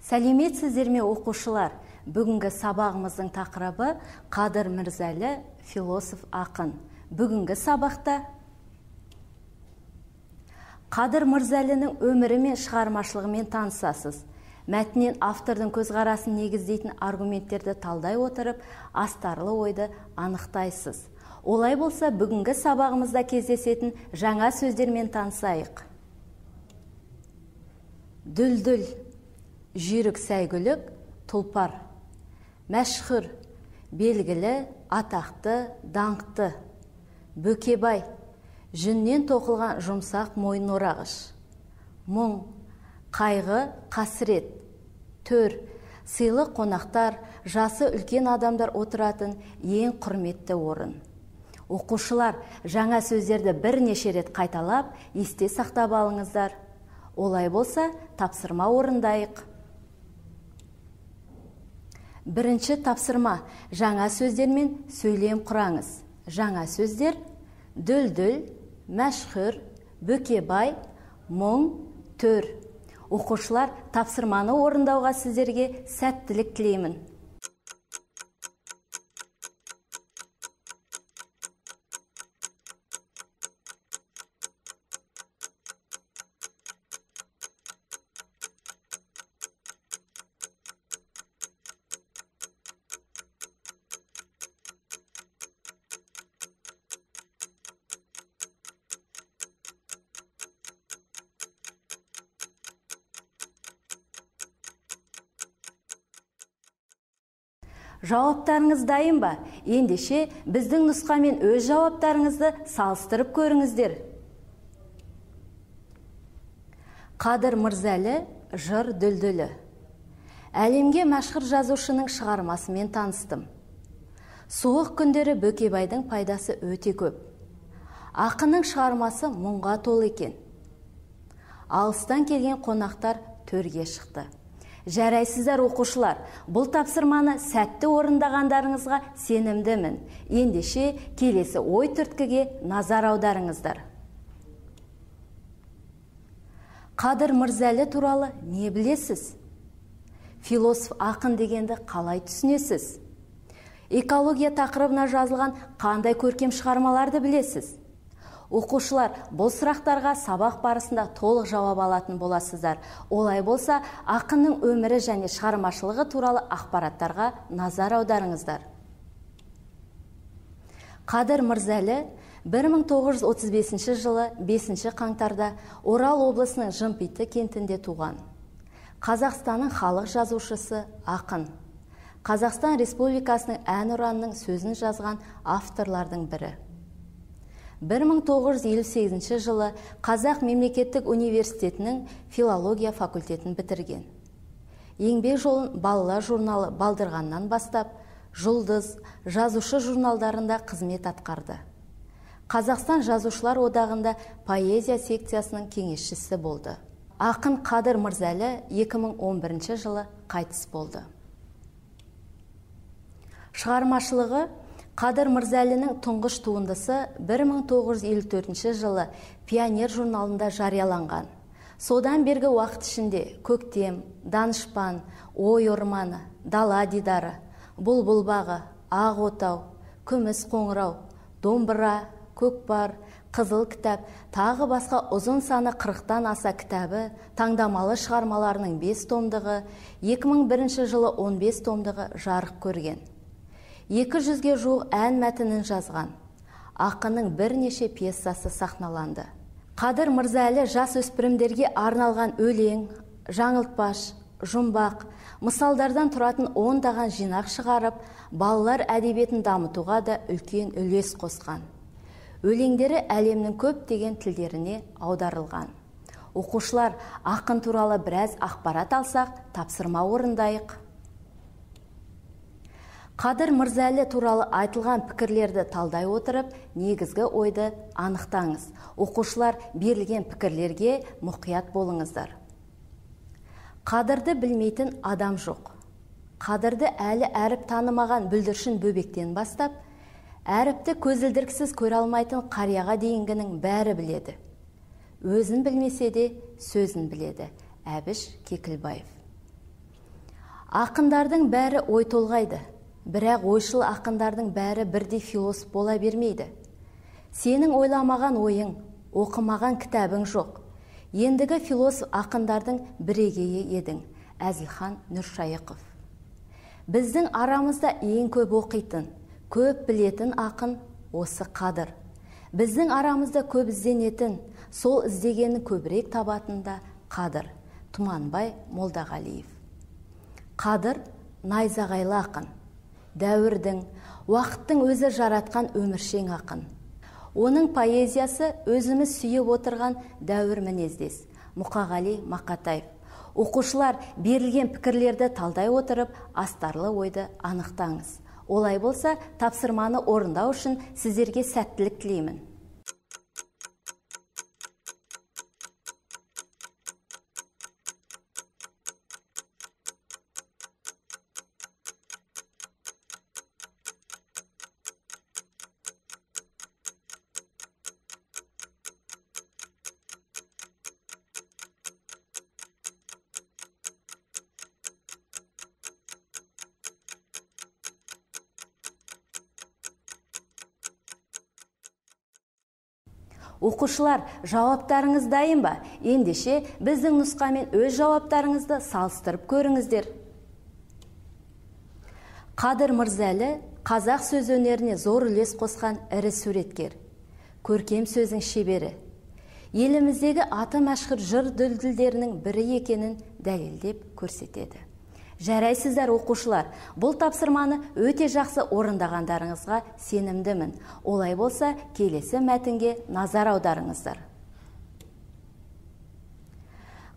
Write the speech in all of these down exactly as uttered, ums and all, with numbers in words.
Сәлеметсіздер ме, оқушылар? Бүгінгі сабағымыздың тақырыбы Қадыр Мырзәлі, философ ақын. Бүгінгі сабақта Қадыр Мырзәлінің өмірі мен шығармашылығымен танысасыз. Мәтіннен автордың көзқарасын негіздейтін аргументтерді талдай отырып, астарлы ойды анықтайсыз. Олай болса, бүгінгі сабағымызда кездесетін жаңа сөздермен танысайық. Дүлдүл, жүйрік сәйгүлік, тұлпар. Мәшһүр, белгілі, атақты, даңқты. Бөкебай, жүннен тоқылған жұмсақ мойын орағыш. Мұң, қайғы, қасірет. Төр, сыйлы қонақтар, жасы үлкен адамдар отыратын ең құрметті орын. Оқушылар, жаңа сөздерді бірнеше рет қайталап, есте сақтап алыңыздар. Олай болса, тапсырма орындайық. Бірінші тапсырма, жаңа сөздермен сөйлем құраңыз. Жаңа сөздер: дүлдүл, мәшһүр, бөкебай, мұң, төр. Оқушылар, тапсырманы орындауға сіздерге сәттілік тілеймін. Жауаптарыңыз дайын ба? Ендеше біздің нұсқамен өз жауаптарыңызды салыстырып көріңіздер. Қадыр Мырзәлі, жыр дүлдүлі. Әлемге мәшһүр жазушының шығармасымен таныстым. Суық күндері Бөкебайдың пайдасы өте көп. Ақынның шығармасы мұңға толы екен. Алыстан келген қонақтар төрге шықты. Жарайсыздар, оқушылар, бұл тапсырманы сәтті орындағандарыңызға сенімдімін. Ендеше келесі ой түрткіге назар аударыңыздар. Қадыр Мырзәлі туралы не білесіз? Философ ақын дегенді қалай түсінесіз? Экология тақырыбына жазылған қандай көркем шығармаларды білесіз? Оқушылар, бұл сұрақтарға сабақ барысында толық жауап алатын боласыздар. Олай болса, ақынның өмірі және шығармашылығы туралы ақпараттарға назар аударыңыздар. Қадыр Мырзәлі бір мың тоғыз жүз отыз бесінші жылы бесінші қаңтарда Орал облысының Жымпиты кентінде туған. Қазақстанның халық жазушысы, ақын. Қазақстан Республикасының әнұранының сөзін жазған авторлардың бірі. бір мың тоғыз жүз елу сегізінші жылы Қазақ мемлекеттік университетінің филология факультетін бітірген. Еңбек жолын балалар журналы Балдырғаннан бастап, Жұлдыз, жазушы журналдарында қызмет атқарды. Қазақстан жазушылар одағында поэзия секциясының кеңесшісі болды. Ақын Қадыр Мырзәлі екі мың он бірінші жылы қайтыс болды. Шығармашылығы: Қадыр Мырзәлінің тұңғыш туындысы бір мың тоғыз жүз елу төртінші жылы Пионер журналында жарияланған. Содан бергі уақыт ішінде Көктем, Данышпан, Ой орманы, Дала дидары, Бұлбұл бағы, Ақ отау, Күміс қоңырау, Домбыра, Көкпар, Қызыл кітап, тағы басқа ұзын саны қырықтан аса кітабы, таңдамалы шығармаларының бес томдығы, екі мың бірінші жылы он бес томдығы жарық көрген. екі жүзге жуық ән мәтінін жазған. Ақынның бірнеше пьесасы сахналанды. Қадыр Мырзәлі жас өспірімдерге арналған өлең, жаңылтпаш, жұмбақ, мысалдардан тұратын ондаған жинақ шығарып, балалар әдебиетін дамытуға да үлкен үлес қосқан. Өлеңдері әлемнің көптеген тілдеріне аударылған. Оқушылар, ақын туралы біраз ақпарат алсақ, тапсырма орындайық. Қадыр Мырзәлі туралы айтылған пікірлерді талдай отырып, негізгі ойды анықтаңыз. Оқушылар, берілген пікірлерге мұқият болыңыздар. Қадырды білмейтін адам жоқ. Қадырды әлі әріп танымаған бүлдіршін бөбектен бастап, әріпті көзілдіріксіз көре алмайтын қарияға дейінгінің бәрі біледі. Өзін білмесе де сөзін біледі. Әбіш Кекілбаев. Ақындардың бәрі ой толғайды, бірақ ойшыл ақындардың бәрі бірдей философ бола бермейді. Сенің ойламаған ойың, оқымаған кітабың жоқ. Ендігі философ ақындардың бірегейі едің, Әзілхан Нұршайықов. Біздің арамызда ең көп оқитын, көп білетін ақын осы Қадыр. Біздің арамызда көп ізденетін, сол іздегені көбірек табатында Қадыр. Тұманбай Молдағалиев. Қадыр найзағайлы ақын, дәуірдің, уақыттың өзі жаратқан өміршең ақын. Оның поэзиясы өзіміз сүйіп отырған дәуір мінездес, Мұқағали Мақатаев. Оқушылар берілген пікірлерді талдай отырып, астарлы ойды анықтаңыз. Олай болса, тапсырманы орындау үшін сіздерге сәттілік тілеймін. Оқушылар, жауаптарыңыз дайын ба? Ендеше біздің нұсқамен өз жауаптарыңызды салыстырып көріңіздер. Қадыр Мырзәлі қазақ сөз өнеріне зор үлес қосқан ірі суреткер, көркем сөздің шебері. Еліміздегі аты мәшһүр жыр дүлдүлдерінің бірі екенін дәлелдеп көрсетеді. Жарайсыздар оқушылар, бұл тапсырманы өте жақсы орындағандарыңызға сенімдімін. Олай болса, келесі мәтінге назар аударыңыздар.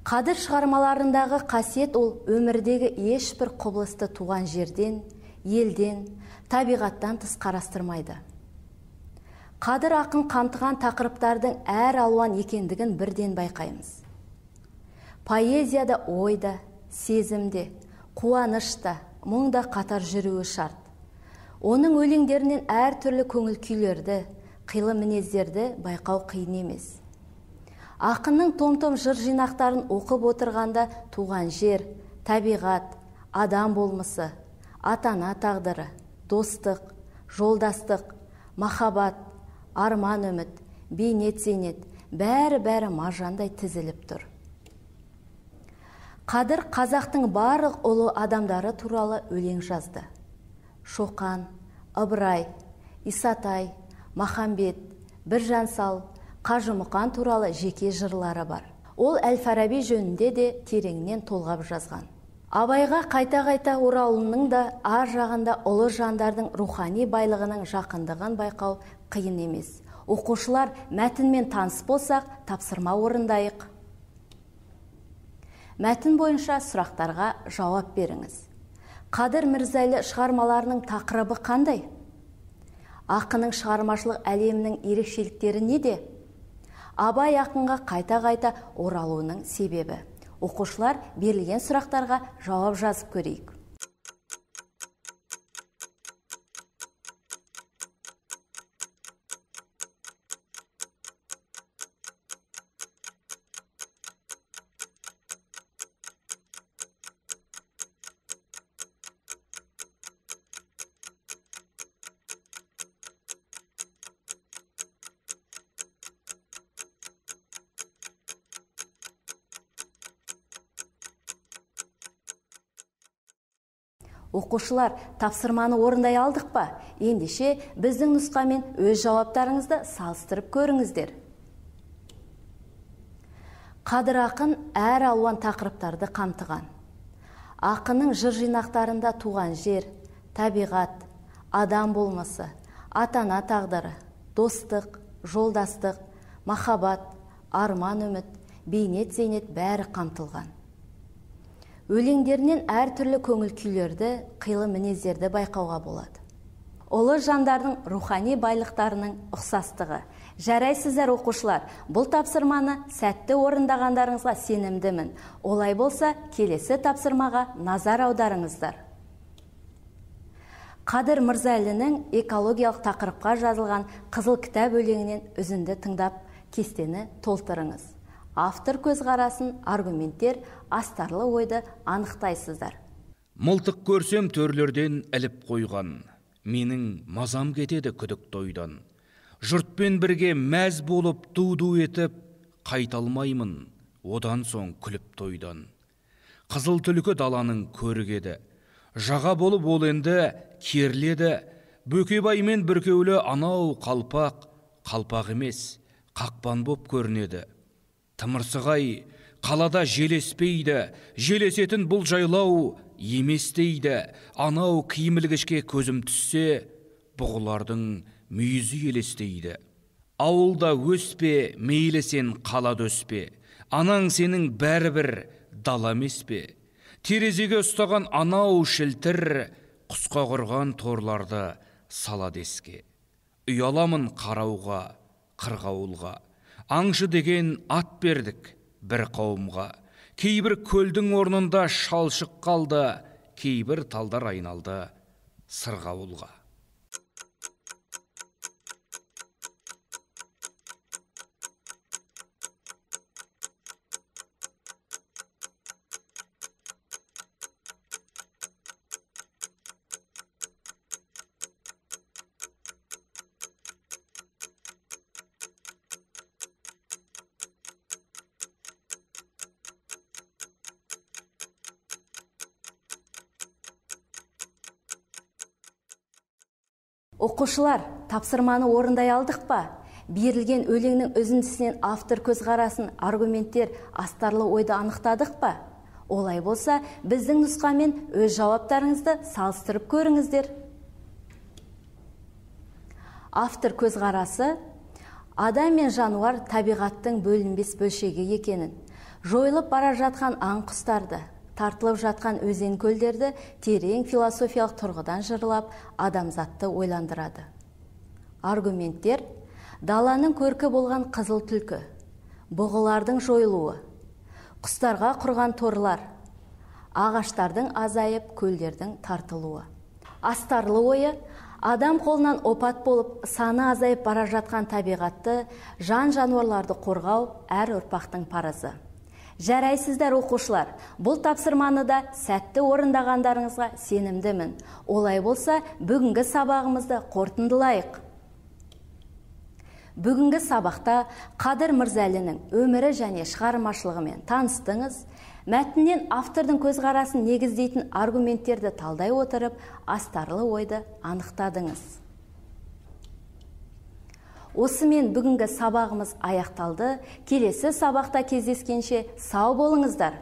Қадыр шығармаларындағы қасиет ол өмірдегі ешбір құбылысты туған жерден, елден, табиғаттан тыс қарастырмайды. Қадыр ақын қамтыған тақырыптардың әр алуан екендігін бірден байқаймыз. Поэзияда ойда, сезімде, қуанышта, мұңда қатар жүруі шарт. Оның өлеңдерінен әр түрлі көңіл күйлерді, қилы мінездерді байқау қиын емес. Ақынның том-том жыр жинақтарын оқып отырғанда туған жер, табиғат, адам болмысы, ата-ана тағдыры, достық, жолдастық, махаббат, арман үміт, бейнет зейнет, бәрі-бәрі маржандай тізіліп тұр. Қадыр қазақтың барлық ұлы адамдары туралы өлең жазды. Шоқан, Ыбырай, Исатай, Махамбет, Біржан Сал, Қажымұқан туралы жеке жырлары бар. Ол Әл-Фараби жөнінде де тереңнен толғап жазған. Абайға қайта-қайта оралуының да ар жағында ұлы жандардың рухани байлығының жақындығын байқау қиын емес. Оқушылар мәтінмен таныс болсақ, тапсырма орындайық. Мәтін бойынша сұрақтарға жауап беріңіз. Қадыр Мырзәлі шығармаларының тақырыбы қандай? Ақынның шығармашылық әлемінің ерекшеліктері неде? Абай ақынға қайта-қайта оралуының себебі. Оқушылар берілген сұрақтарға жауап жазып көрейік. Оқушылар, тапсырманы орындай алдық па? Ендеше біздің нұсқамен өз жауаптарыңызды салыстырып көріңіздер. Қадыр ақын әр алуан тақырыптарды қамтыған. Ақынның жыр жинақтарында туған жер, табиғат, адам болмысы, ата-ана тағдыры, достық, жолдастық, махаббат, арман үміт, бейнет зейнет бәрі қамтылған. Өлеңдерінен әр түрлі көңіл күйлерді, қилы мінездерді байқауға болады. Ұлы жандардың рухани байлықтарының ұқсастығы. Жарайсыздар оқушылар, бұл тапсырманы сәтті орындағандарыңызға сенімдімін. Олай болса, келесі тапсырмаға назар аударыңыздар. Қадыр Мырзәлінің экологиялық тақырыпқа жазылған қызыл кітап өлеңінен үзінді тыңдап, кестені толтырыңыз. Автор көзқарасын, аргументтер, астарлы ойды анықтайсыздар. Мылтық көрсем төрлерден іліп қойған, менің мазам кетеді күдік тойдан. Жұртпен бірге мәз болып ду-ду етіп, қайталмаймын одан соң күліп тойдан. Қызыл түлкі даланың көргеді, жаға болып ол енді керледі. Бөкебаймен бүркеулі анау қалпақ, қалпақ емес, қақпан боп көрінеді. Тымырсығай қалада желеспейді, желесетін бұл жайлау емес дейді. Анау киімілгішке көзім түссе, бұғылардың мүйізі елестейді. Ауылда өспе, мейлі сен қалада өспе, анаң сенің бәрібір дала емес пе? Терезеге ұстаған анау шілтір, құсқа құрған торларды сала деске. Ұяламын қарауға, қырғауылға, аңшы деген ат бердік бір қауымға. Кейбір көлдің орнында шалшық қалды, кейбір талдар айналды сырғауылға. Оқушылар, тапсырманы орындай алдық па? Берілген өлеңнің үзіндісінен автор көзқарасын, аргументтер, астарлы ойды анықтадық па? Олай болса, біздің нұсқамен өз жауаптарыңызды салыстырып көріңіздер. Автор көзқарасы: адам мен жануар табиғаттың бөлінбес бөлшегі екенін, жойылып бара жатқан аң құстарды, тартылып жатқан өзен көлдерді терең философиялық тұрғыдан жырлап, адамзатты ойландырады. Аргументтер: даланың көркі болған қызыл түлкі, бұғылардың жойылуы, құстарға құрған торлар, ағаштардың азайып, көлдердің тартылуы. Астарлы ойы: адам қолынан опат болып, саны азайып бара жатқан табиғатты, жан жануарларды қорғау әр ұрпақтың парызы. Жарайсыздар оқушылар, бұл тапсырманы да сәтті орындағандарыңызға сенімдімін. Олай болса, бүгінгі сабағымызды қорытындылайық. Бүгінгі сабақта Қадыр Мырзалиннің өмірі және шығармашылығымен таныстыңыз. Мәтіннен автордың көзқарасын негіздейтін аргументтерді талдай отырып, астарлы ойды анықтадыңыз. Осымен бүгінгі сабағымыз аяқталды. Келесі сабақта кездескенше сау болыңыздар.